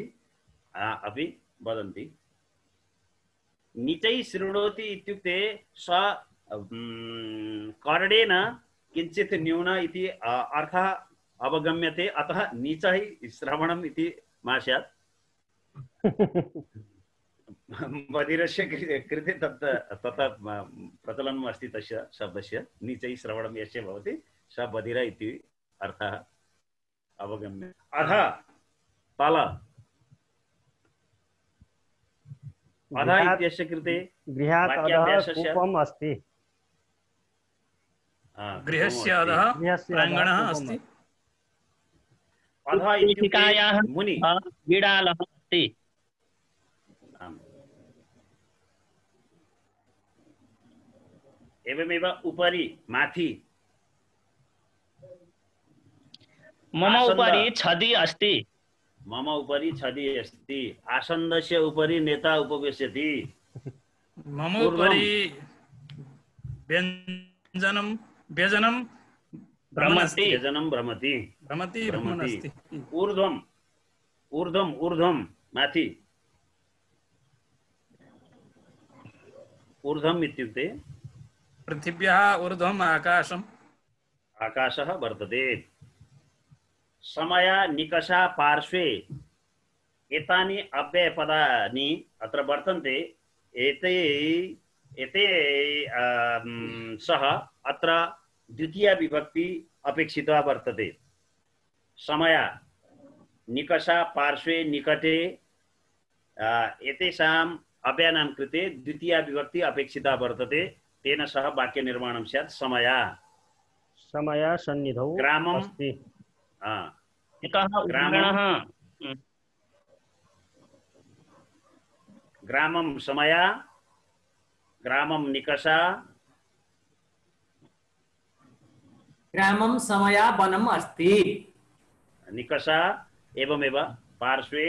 अपि वदन्ति। नीचै शृणोति इत्युक्ते स कर्णेन किञ्चित् न्यून इति अर्थः अवगम्यते अतः नीचै श्रवणम् इति मा स्यात्। बधिरस्य कृते तत् तथा प्रचलनम् अस्ति तस्य शब्दस्य नीचै श्रवणं यस्य भवति स बधिर इति अर्थः अवगम्य। अधः तल अधः इत्यस्य कृते गृहात् अधः कूपम् अस्ति। गृहस्य अधः प्राङ्गणः अस्ति। अधः इत्युक्ते मुनि बिडालः अस्ति। एवमेव उपरि माथि मम उपरि छदि अस्ति। मम उपरि छदि अस्ति। आसन्दस्य उपरि नेता उपविशति। मम उपरि व्यञ्जनं व्यजनं भ्रमति व्यजनं भ्रमति भ्रमति भ्रमति। ऊर्ध्वम् ऊर्ध्वम् ऊर्ध्वं माथि। ऊर्ध्वम् इत्युक्ते पृथिव्याः ऊर्ध्वम् आकाशम् आकाशः वर्तते। समया निकषा पार्श्वे एतानि अव्ययपदानि अत्र वर्तन्ते। एते एते सह अत्र द्वितीया विभक्ति अपेक्षिता वर्तते। समया निकषा पार्श्वे निकटे एतेषाम् अव्ययानां कृते द्वितीया विभक्ति अपेक्षिता वर्तते। तेन सह वाक्यनिर्माणं स्यात्। समया समया सन्निधौ ग्रामम् अस्ति। ग्रामं समया ग्रामं निकषा ग्रामं समया वनम् अस्ति। निकषा एवमेव पार्श्वे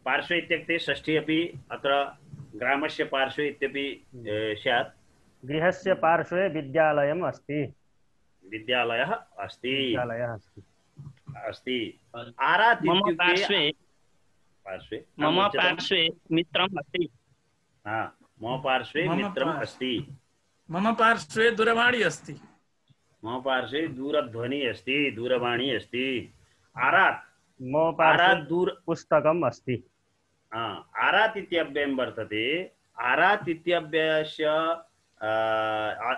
पार्श्वे इत्युक्ते षष्ठी अपि अत्र ग्रामस्य पार्श्वे इत्यपि स्यात्। गृहस्य पार्श्वे विद्यालयम् अस्ति। विद्यालयः अस्ति विद्यालयः अस्ति अस्ति आरात् मम इत्युक्ते पार्श्वे पार्श्वे मम पार्श्वे मित्रम् अस्ति हा मम पार्श्वे मम मित्रम् पार्श्वे- अस्ति मम पार्श्वे दूरवाणी अस्ति मम पार्श्वे दूरध्वनि अस्ति दूरवाणी अस्ति आरात् मम पार्श्वे आरात् दूर पुस्तकम् अस्ति हा, आरात् इत्यव्ययं वर्तते आरात् इत्यव्ययस्य अ,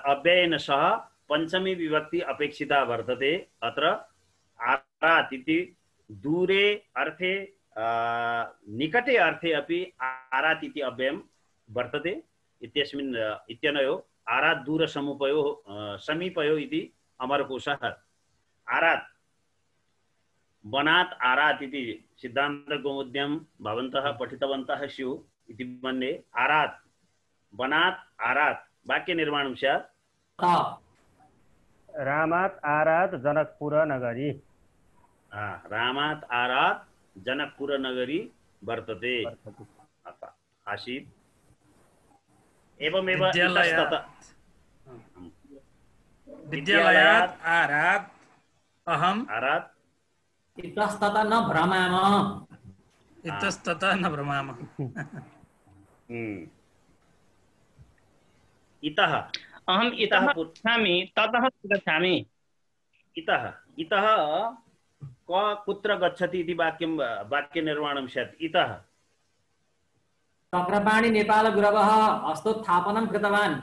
अव्ययेन सह पञ्चमी विभक्ति अपेक्षिता वर्तते अत्र आरात् इति दूरे अर्थे अ, निकटे अर्थे अपि आरात् इति अव्ययं वर्तते इत्यस्मिन् इत्यनयोः आरात् दूरसमुपयोः अ, समीपयोः इति अमरकोशः आरात् वनात् आरात् इति सिद्धान्तकौमुद्यां भवन्तः पठितवन्तः स्युः इति मन्ये आरात् वनात् आरात् वाक्यनिर्माणं स्यात् रामात् आरात् जनकपुरनगरी हा, रामात् आरात् जनकपुरनगरी वर्तते अतः आसीत् एवमेव विद्यालयात् इतस्ततः विद्यालयात् आरात् अहम् आरात् इतस्ततः न भ्रमामः इतस्ततः न भ्रमामः हम्म। इतः अहम् इतः गच्छामि ततः गच्छामि इतः इतः क कुत्र गच्छति इति वाक्यं वाक्यनिर्माणं स्यात् इतः चक्रपाणि नेपालगुरवः हस्तोत्थापनं कृतवान्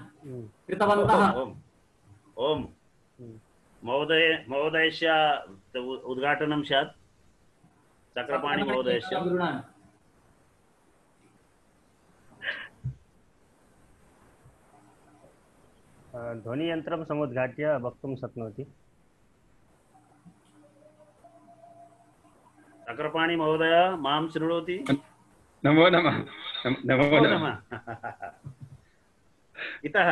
कृतवन्तः ओम ओम महोदय महोदयस्य उद्घाटनं स्यात् चक्रपाणि महोदयस्य गुरुणां ध्वनियन्त्रं समुद्घाट्य वक्तुं शक्नोति चक्रपाणि महोदय मां शृणोति नमो नमः नमो नमो नमः नमः इतः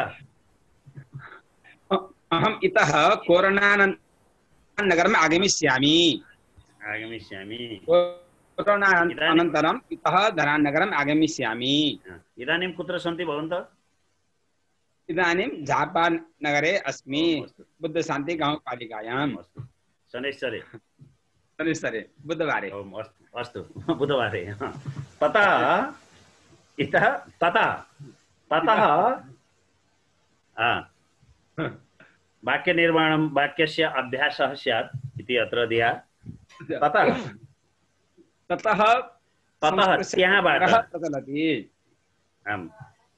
अहम् इतः कोरोनानन्तरं नगरम् आगमिष्यामि आगमिष्यामि कोरोना अनन्तरम् इतः धरान् नगरम् आगमिष्यामि इदानीं कुत्र सन्ति भवन्तः इदानीं जापान् नगरे अस्मि बुद्धशान्ति गाँवपालिकायाम् शनैश्चरे शनैश्चरे बुधवारे ओम अस्तु अस्तु बुधवारे ततः इतः ततः ततः वाक्यनिर्माणं वाक्यस्य अभ्यासः स्यात् इति अत्र धिया ततः ततः ततः त्यहाँबाट प्रचलति आम्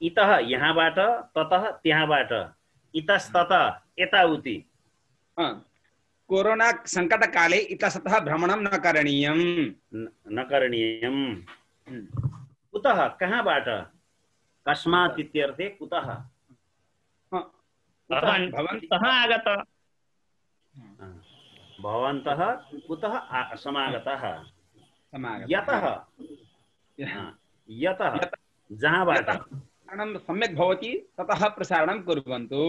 इतः यहाँबाट ततः त्यहाँबाट इतस्ततः यताउति कोरोना सङ्कटकाले इतस्ततः भ्रमणं न करणीयं न करणीयं कुतः कहाँबाट कस्मात् इत्यर्थे कुतः भवन्तः आगत भवन्तः कुतः समागतः यतः यतः जहाँबाट प्रसारणं सम्यक् भवति ततः प्रसारणं कुर्वन्तु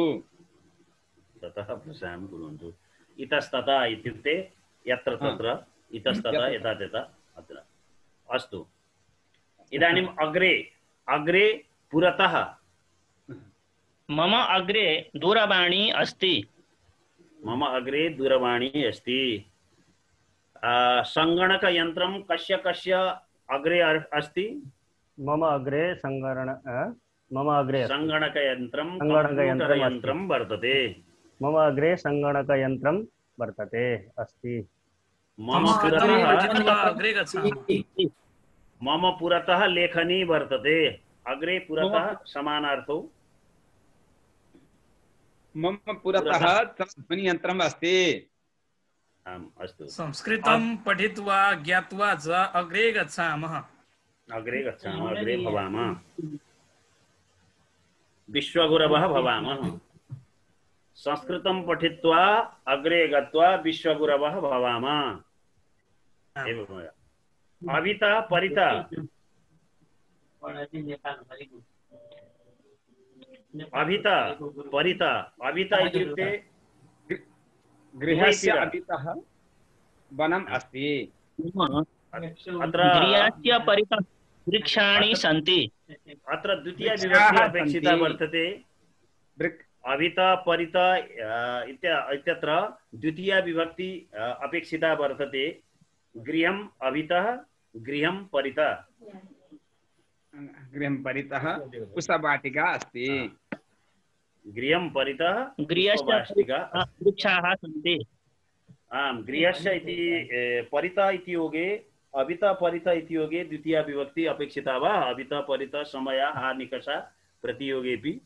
ततः प्रसारणं कुर्वन्तु इतस्ततः इत्युक्ते यत्र तत्र इतस्ततः यथा तथा अत्र अस्तु इदानीम् अग्रे अग्रे पुरतः मम अग्रे दूरवाणी अस्ति मम अग्रे दूरवाणी अस्ति सङ्गणकयन्त्रं कस्य कस्य अग्रे अस्ति मम अग्रे सङ्गण मम अग्रे सङ्गणकयन्त्रं सङ्गणकयन्त्रं वर्तते मम अग्रे सङ्गणकयन्त्रं वर्तते अस्ति मम पुरतः अग्रे गच्छामः मम पुरतः लेखनी वर्तते अग्रे पुरतः समानार्थौ मम पुरतः ध्वनियन्त्रम् अस्ति आम् अस्तु संस्कृतं पठित्वा ज्ञात्वा च अग्रे गच्छामः अग्रे गच्छामः अग्रे भवामः विश्वगुरवः भवामः संस्कृतं पठित्वा अग्रे गत्वा विश्वगुरवः भवामः एवमेव अविता परिता अभिता परिता अभिता इत्युक्ते गृहस्य अभितः वनम् अस्ति अत्र गृहस्य परितः वृक्षाणि सन्ति अत्र द्वितीया विभक्ति अपेक्षिता वर्तते अभित परित इत्यत्र द्वितीया विभक्ति अपेक्षिता वर्तते। गृहम् अभितः गृहं परितः गृहं परितः पुष्पवाटिका अस्ति। गृहं परितः गृहस्य वृक्षाः सन्ति। आम् गृहस्य इति परितः इति योगे अभितः परितः इति योगे द्वितीया विभक्ति अपेक्षिता वा? अभितः परितः समया हा निकषा प्रतियोगेपि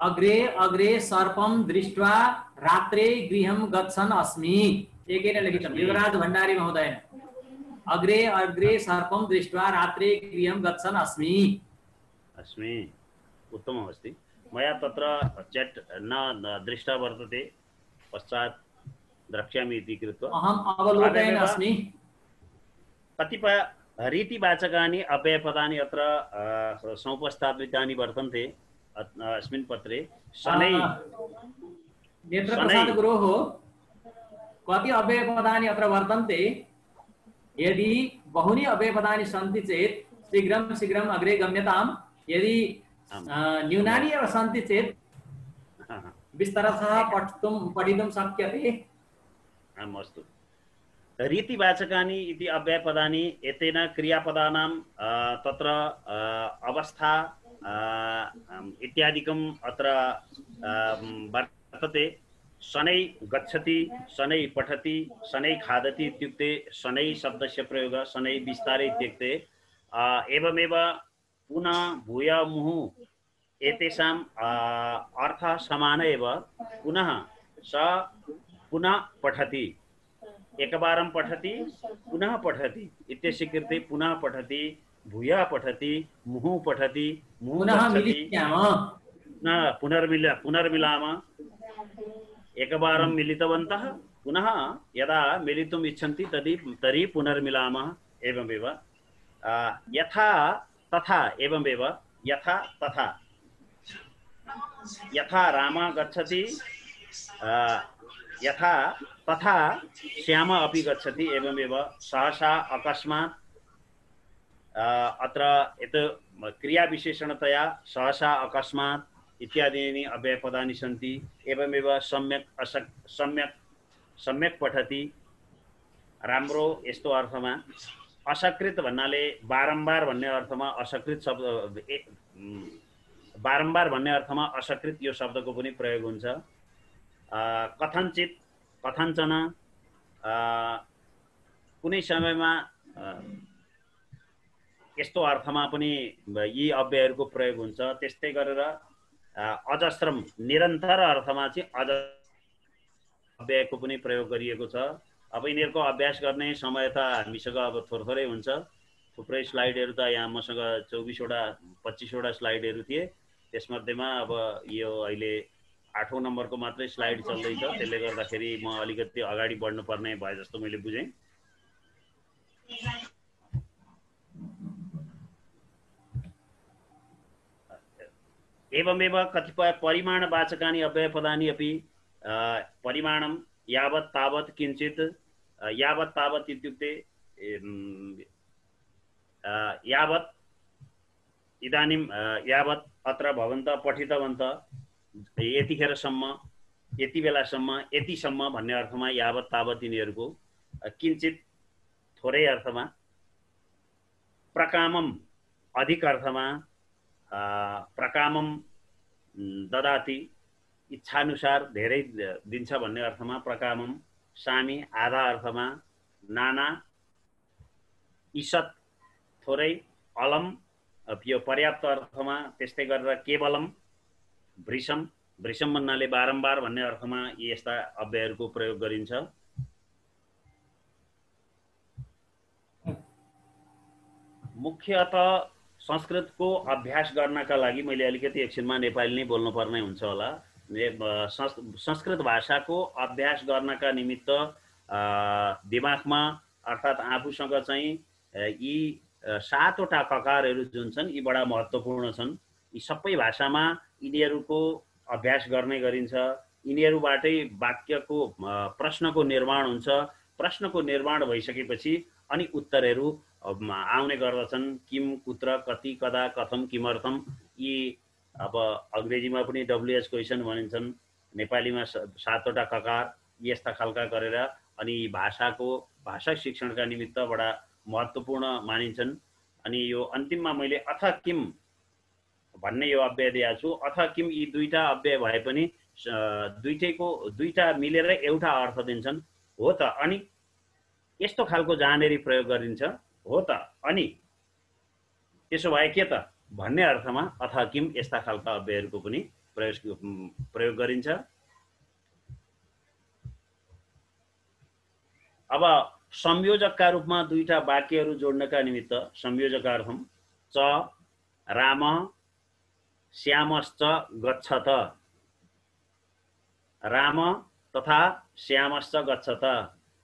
अग्रे अग्रे सर्पं दृष्ट्वा रात्रे गृहं गच्छन् अस्मि। एकेन लिखितं युवराज भण्डारी महोदयेन। अग्रे अग्रे सर्पं दृष्ट्वा रात्रे गृहं गच्छन् अस्मि। अस्मि उत्तमम् अस्ति। मया तत्र चेट् न दृष्टा वर्तते, पश्चात् द्रक्ष्यामि इति कृत्वा अहम् अवलोकयन् अस्मि। कतिपय रीतिवाचकानि अव्ययपदानि अत्र समुपस्थापितानि वर्तन्ते अस्मिन् पत्रे। शनै नेत्रप्रसाद गुरोः कति अव्ययपदानि अत्र वर्तन्ते। यदि बहूनि अव्ययपदानि सन्ति चेत् शीघ्रं शीघ्रम् अग्रे गम्यताम्। यदि न्यूनानि एव सन्ति चेत् विस्तरतः पठितुं पठितुं शक्यते। आम् अस्तु। रीतिवाचकानि इति अव्ययपदानि एतेन क्रियापदानां तत्र अवस्था इत्यादिकम् अत्र वर्तते। शनै गच्छति, शनै पठति, शनै खादति इत्युक्ते शनै शब्दस्य प्रयोगः शनै विस्तारे इत्युक्ते। एवमेव पुनः भूय मुहुः एतेषाम् अर्थः समान एव। पुनः स पुनः पठति, एकवारं पठति पुनः पठति इत्यस्य कृते पुनः पठति, भूयः पठति, मुहुः पठति, मुहुः पुनः गच्छति, मिलिष्यामः, पुनर्मिल पुनर्मिलामः। एकवारं मिलितवन्तः पुनः यदा मिलितुम् इच्छन्ति तर्हि तर्हि पुनर्मिलामः। एवमेव यथा तथा, एवमेव यथा तथा। यथा रामः गच्छति यथा तथा श्यामः अपि गच्छति। एवमेव सहसा अकस्मात् अत्र यत् क्रियाविशेषणतया सहसा अकस्मात् इत्यादीनि अव्ययपदानि सन्ति। एवमेव सम्यक् असक् सम्यक् सम्यक् पठति राम्रो यस्तो अर्थमा। असकृत भन्नाले बारम्बार भन्ने अर्थमा असकृत शब्द बारम्बार भन्ने अर्थमा असकृत यो शब्दको पनि प्रयोग हुन्छ। कथनचित, कथञ्चन कुनै समयमा यस्तो अर्थमा पनि यी अव्ययहरूको प्रयोग हुन्छ। त्यस्तै गरेर अजस्रम निरन्तर अर्थमा चाहिँ अज अव्ययको पनि प्रयोग गरिएको छ। अब यिनीहरूको अभ्यास गर्ने समय त हामीसँग अब थोर थोरै हुन्छ। थुप्रै स्लाइडहरू त यहाँ मसँग चौबिसवटा पच्चिसवटा स्लाइडहरू थिए। त्यसमध्येमा अब यो अहिले आठौँ नम्बरको मात्रै स्लाइड चल्दैछ। त्यसले गर्दाखेरि म अलिकति अगाडि बढ्नुपर्ने भए जस्तो मैले बुझेँ। एवमेव कतिपय परिमाणवाचकानि अव्ययपदानि अपि परिमाणं यावत् तावत् किञ्चित्। यावत् तावत् इत्युक्ते यावत् इदानीं यावत् अत्र भवन्तः पठितवन्तः यतिखेरसम्म, यति बेलासम्म, यतिसम्म भन्ने अर्थमा यावत् तावत् यिनीहरूको। किञ्चित् थोरै अर्थमा। प्रकामम अधिक अर्थमा। प्रकामम ददाति इच्छानुसार धेरै दिन्छ भन्ने अर्थमा प्रकामम। सामी आधा अर्थमा। नाना ईषत् थोरै। अलम यो पर्याप्त अर्थमा। त्यस्तै गरेर केवलम वृषम, वृषम भन्नाले बारम्बार भन्ने अर्थमा यस्ता अव्ययहरूको प्रयोग गरिन्छ। मुख्यतः संस्कृतको अभ्यास गर्नका लागि मैले अलिकति एकछिनमा नेपाली नै बोल्नुपर्ने हुन्छ होला। संस्कृत भाषाको अभ्यास गर्नका निमित्त दिमागमा अर्थात् आफूसँग चाहिँ यी सातवटा ककारहरू जुन छन् यी बडा महत्त्वपूर्ण छन्। यी सबै भाषामा यिनीहरूको अभ्यास गर्ने गरिन्छ। यिनीहरूबाटै वाक्यको प्रश्नको निर्माण हुन्छ। प्रश्नको निर्माण भइसकेपछि अनि उत्तरहरू आउने गर्दछन्। किम, कुत्र, कति, कदा, कथम, किमर्थम, यी अब अङ्ग्रेजीमा पनि डब्लुएच क्वेसन भनिन्छन्, नेपालीमा सातवटा ककार, यस्ता खालका गरेर अनि भाषाको भाषा शिक्षणका निमित्त बडा महत्त्वपूर्ण मानिन्छन्। अनि यो अन्तिममा मैले अथ किम भन्ने यो अव्यय दिएको छु। अथ किम यी दुईटा अव्यय भए पनि दुईटैको दुईटा मिलेर एउटा अर्थ दिन्छन्। हो त, अनि यस्तो खालको जहाँनेरि प्रयोग गरिन्छ, हो त, अनि त्यसो भए के त भन्ने अर्थमा अथ किम यस्ता खालका अव्ययहरूको पनि प्रयोग प्रयोग गरिन्छ। अब संयोजकका रूपमा दुईटा वाक्यहरू जोड्नका निमित्त संयोजकार्थम च राम श्यामश्च गच्छत, राम तथा श्यामश्च गच्छत,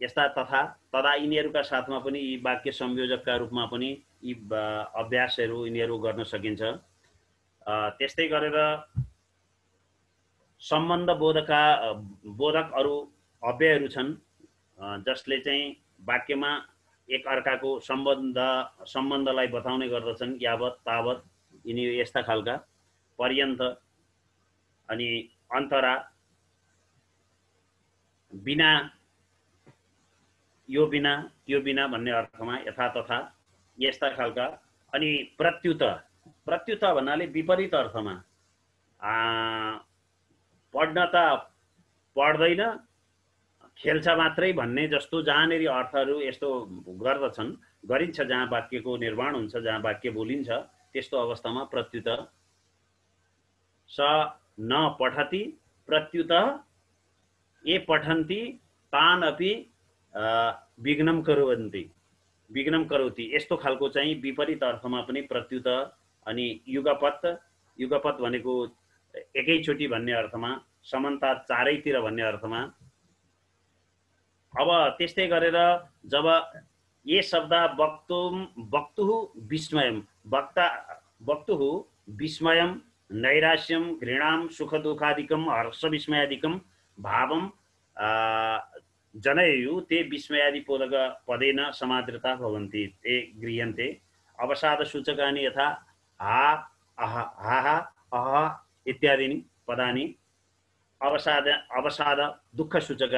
यस्ता तथा तदा यिनीहरूका साथमा पनि यी वाक्य संयोजकका रूपमा पनि यी अभ्यासहरू यिनीहरू गर्न सकिन्छ। त्यस्तै गरेर सम्बन्ध बोधका बोधक अरू अव्ययहरू छन् जसले चाहिँ वाक्यमा एक अर्काको सम्बन्ध सम्बन्धलाई बताउने गर्दछन्। यावत, तावत, यिनी यस्ता खालका, पर्यन्त, अनि अन्तरा, बिना, यो बिना, त्यो बिना भन्ने अर्थमा, यथा तथा, यस्ता खालका। अनि प्रत्युत, प्रत्युत भन्नाले विपरीत अर्थमा, पढ्न त पढ्दैन खेल्छ मात्रै भन्ने जस्तो जहाँनेरि अर्थहरू यस्तो गर्दछन्, गरिन्छ, जहाँ वाक्यको निर्माण हुन्छ, जहाँ वाक्य बोलिन्छ, त्यस्तो अवस्थामा प्रत्युत। स न पठति प्रत्युत ए पठन्ति तान अपि विघ्नं कुर्वन्ति, विघ्नं करोति, यस्तो खालको चाहिँ विपरीत अर्थमा पनि प्रत्युत। अनि युगपत, युगपत भनेको एकैचोटि भन्ने अर्थमा, समानता चारैतिर भन्ने अर्थमा। अब त्यस्तै गरेर जब ये शब्द वक्तुम वक्तुः विस्मयम, वक्ता वक्तुः विस्मयम नैराश्यम घृणाम सुख दुःखादिकम हर्ष विस्मयादिकम भावम जनयु ते विस्मयादि पोदक पदेन समाद्रता भवन्ति ते गृह्यन्ते। अवसाद सूचकानि यथा हा, अह, हा, अह इत्यादीनि पदानि अवसाद अवसाद दुःख सूचक,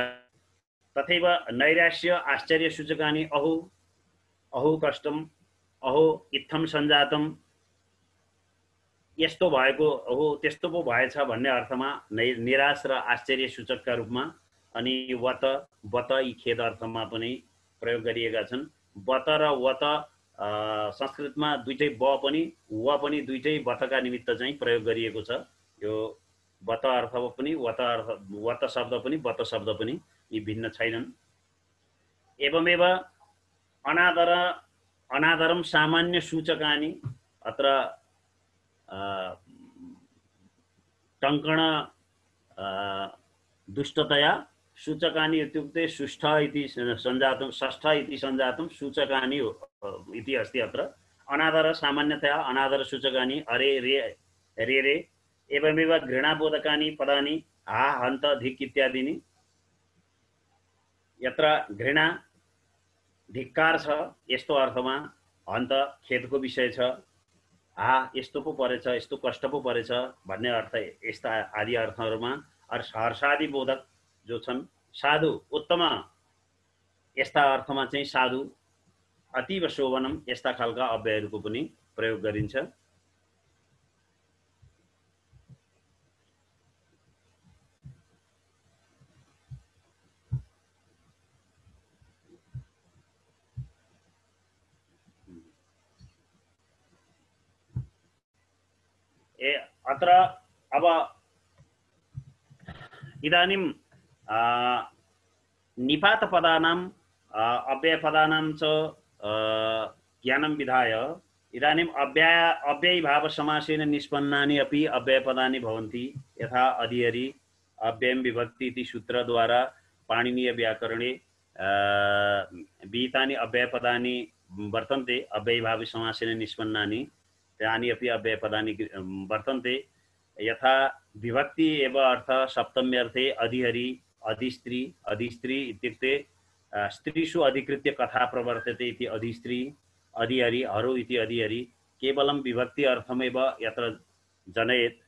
तथैव नैराश्य आश्चर्य सूचकानि अहो, अहो कष्टम, अहो इत्थम सञ्जातम, यस्तो भएको, अहो त्यस्तो पो भएछ भन्ने अर्थमा नै निराश र आश्चर्य सूचकका रूपमा। अनि वत, वत यी खेद अर्थमा पनि प्रयोग गरिएका छन्। वत र वत संस्कृतमा दुईटै ब पनि व पनि दुईटै वतका निमित्त चाहिँ प्रयोग गरिएको छ। यो वत अर्थ पनि वत अर्थ, वत शब्द पनि वत शब्द पनि यी भिन्न छैनन्। एवमेव अनादर अनादरम सामान्य सूचकानि अत्र टङ्कण दुष्टतया सूचकानि इत्युक्ते सुष्ठ इति सञ्जातं, षष्ठ इति सञ्जातं सूचकानि इति अस्ति अत्र। अनादर सामान्यतया अनादर सूचकानि अरे, रे, रे रे। एवमेव घृणाबोधकानि पदानि हा, हन्त, धिक् इत्यादीनि। यत्र घृणा धिक्कार छ यस्तो अर्थमा, हन्त खेदको विषय छ, हा यस्तो पो परेछ, यस्तो कष्ट पो परेछ भन्ने अर्थ, यस्ता आदि अर्थहरूमा। हर्षादि बोधक जो छन्, साधु उत्तम, यस्ता अर्थमा चाहिँ साधु, अतीव शोभनम, यस्ता खालका अव्ययहरूको पनि प्रयोग गरिन्छ। ए अत्र अब इदानीं निपातपदानां अव्ययपदानां च ज्ञानं विधाय इदानीम् अव्यय अव्ययीभावसमासेन निष्पन्नानि अपि अव्ययपदानि भवन्ति। यथा अधिहरि अव्ययं विभक्ति इति सूत्रद्वारा पाणिनीयव्याकरणे विहितानि अव्ययपदानि वर्तन्ते अव्ययीभावसमासेन निष्पन्नानि, तानि अपि अव्ययपदानि वर्तन्ते। यथा विभक्ति एव अर्थ सप्तम्यर्थे अधिहरि, अधिस्त्री, अधिस्त्री इत्युक्ते स्त्रीषु अधिकृत्य कथा प्रवर्तते इति अधिस्त्री अधिहरि हरो इति अधिहरि केवलं विभक्ति अर्थमेव यत्र जनयेत्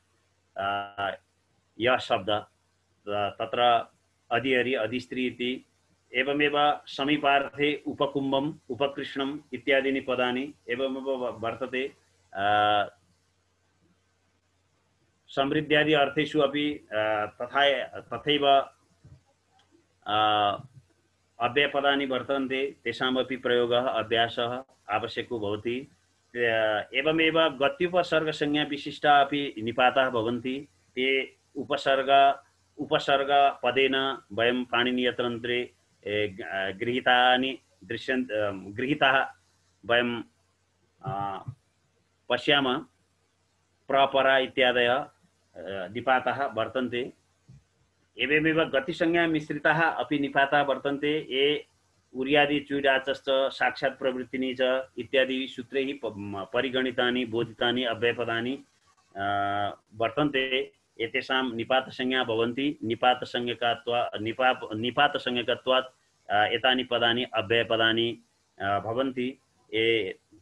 यः शब्द तत्र अधिहरि अधिस्त्री इति एवमेव समीपार्थे उपकुम्भम उपकृष्णम इत्यादीनि पदानि एवमेव वर्तते समृद्ध्यादि अर्थेषु अपि तथा तथैव अव्ययपदानि वर्तन्ते तेषामपि प्रयोगः अभ्यासः आवश्यको भवति एवमेव गत्युपसर्गसंज्ञा विशिष्टा अपि निपाताः भवन्ति ते उपसर्ग उपसर्ग पदेन वयं पाणिनीयतन्त्रे गृहीतानि दृश्यन् गृहीताः वयं पश्यामः प्रपरा इत्यादयः निपाताः वर्तन्ते एवमेव गतिसंज्ञा मिश्रिताः अपि निपाताः वर्तन्ते ये उर्यादि चुडाचश्च साक्षात् प्रवृत्तिनी च इत्यादि सूत्रैः परिगणितानि बोधितानि अव्ययपदानि वर्तन्ते एतेषां निपातसंज्ञा भवन्ति निपातसंज्ञकत्वात् निपात निपातसंज्ञकत्वात् एतानि पदानि अव्ययपदानि भवन्ति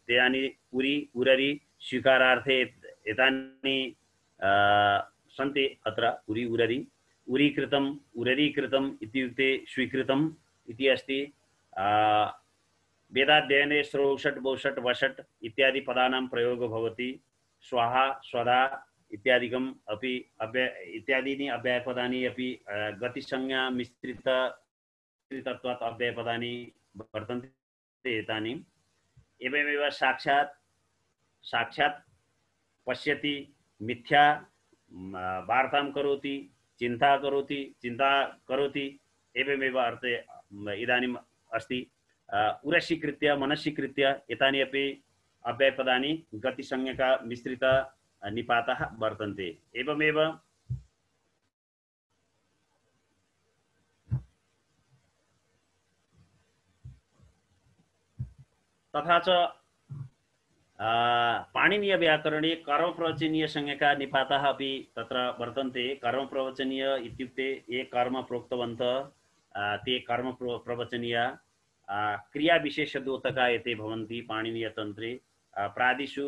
तानि उरि उररि स्वीकारार्थे एतानि सन्ति अत्र उरि उररि उरीकृतम् उररीकृतम् इत्युक्ते स्वीकृतम् इति अस्ति वेदाध्ययने श्रोषट् बौषट् वषट् इत्यादि पदानां प्रयोगो भवति स्वाहा स्वधा इत्यादिकम् अपि अव्यय इत्यादीनि अव्ययपदानि अपि गतिसंज्ञा मिश्रित मिश्रितत्वात् अव्ययपदानि वर्तन्ते एतानि एवमेव साक्षात् साक्षात् पश्यति मिथ्या वार्तां करोति चिंता करोति चिंता करोति एवमेव अर्थे इदानीम् अस्ति उरसीकृत्य मनसीकृत्य एतानि अपि अव्ययपदानि गतिसंज्ञका मिश्रित निपाताः वर्तन्ते एवमेव तथा च पाणिनीय व्याकरणे कर्मप्रवचनीय संज्ञका निपाताः अपि तत्र वर्तन्ते कर्मप्रवचनीय इत्युक्ते ये कर्म प्रोक्तवन्तः ते कर्म प्रवचनीय क्रियाविशेषद्योतका एते भवन्ति पाणिनीयतन्त्रे प्रादिषु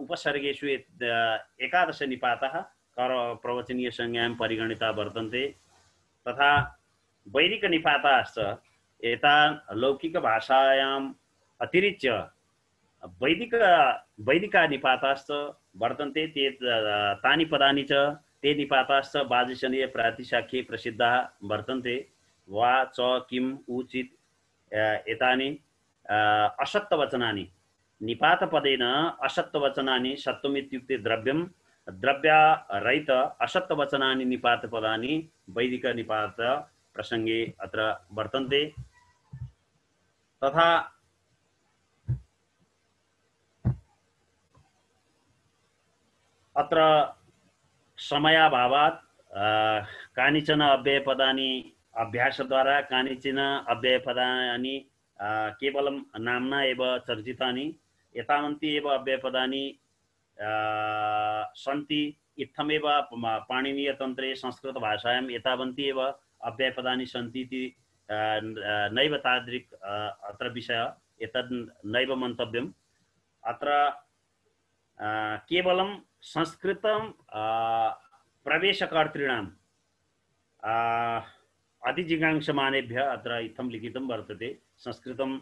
उपसर्गेषु एकादश निपाताः कर्मप्रवचनीय संज्ञां परिगणिता वर्तन्ते तथा वैदिक निपाताश्च एतान् लौकिकभाषायाम् अतिरिच्य वैदिक वैदिका निपाताश्च वर्तन्ते ते तानि पदानि च ते निपाताश्च वाजसनीय प्रातिशाख्ये प्रसिद्धाः वर्तन्ते वा च किम् उचित एतानि असत्तवचनानि निपातपदेन असत्तवचनानि सत्वम् इत्युक्ते द्रव्यं द्रव्यरहित असत्तवचनानि निपातपदानि वैदिक निपात प्रसंगे अत्र वर्तन्ते तथा अत्र समयाभावात् कानिचन अव्ययपदानि अभ्यासद्वारा कानिचन अव्ययपदानि केवलं नाम्ना एव चर्चितानि एतावन्ति एव अव्ययपदानि सन्ति इत्थमेव पाणिनीयतन्त्रे संस्कृतभाषायाम् एतावन्ति एव अव्ययपदानि सन्ति इति नैव तादृक् अत्र विषय एतद् नैव मन्तव्यम् अत्र केवलं संस्कृतं प्रवेशकर्तॄणां अधिजिज्ञासमानेभ्यः अत्र इत्थं लिखितं वर्तते संस्कृतं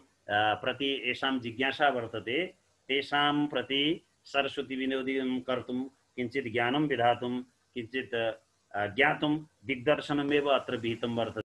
प्रति येषां जिज्ञासा वर्तते तेषां प्रति सरस्वती विनोदनं कर्तुं किञ्चित् ज्ञानं विधातुं किञ्चित् ज्ञातुं दिग्दर्शनमेव अत्र विहितं वर्तते।